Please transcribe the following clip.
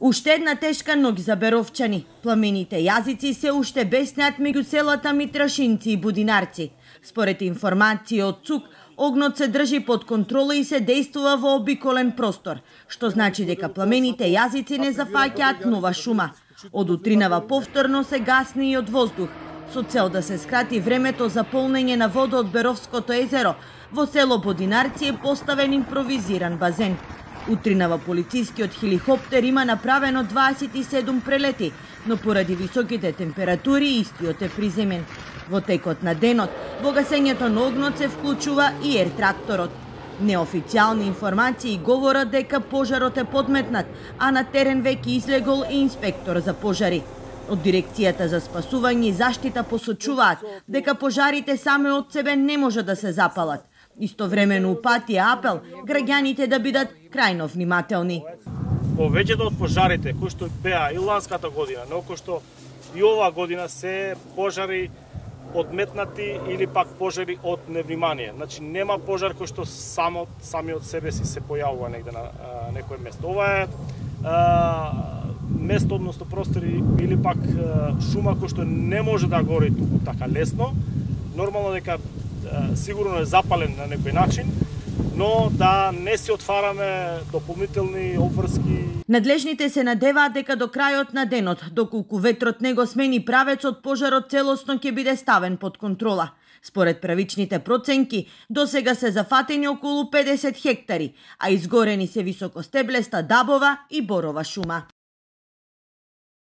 Уште една тешка ноќ за беровчани. Пламените јазици се уште беснеат меѓу селата Митрашинци и Будинарци. Според информации од ЦУК, огнот се држи под контрола и се действува во обиколен простор, што значи дека пламените јазици не зафаќаат нова шума. Од утринава повторно се гасни и од воздух, со цел да се скрати времето за полнење на вода од Беровското езеро. Во село Будинарци е поставен импровизиран базен. Утринава полицискиот хеликоптер има направено 27 прелети, но поради високите температури истиот е приземен. Во текот на денот, во гасењето на огнот се вклучува и ер-тракторот. Неофицијални информации говорат дека пожарот е подметнат, а на терен веќе излегол и инспектор за пожари. Од Дирекцијата за спасување и заштита посочуваат дека пожарите саме од себе не може да се запалат. Истовремено упати апел граѓаните да бидат крајно внимателни. Повеќето од пожарите кои што беа и ланската година, но кои што и оваа година се пожари одметнати или пак пожари од невнимание. Значи нема пожар кој што сами од себе си се појавува негде на некое место. Ова е место, односно простори или пак шума кој што не може да гори туку така лесно. Нормално дека сигурно е запален на некој начин, но да не си отвараме дополнителни обврски. Надлежните се надеваат дека до крајот на денот, доколку ветрот не го смени правецот, пожарот целосно ќе биде ставен под контрола. Според правичните проценки, досега се зафатени околу 50 хектари, а изгорени се високостеблеста дабова и борова шума.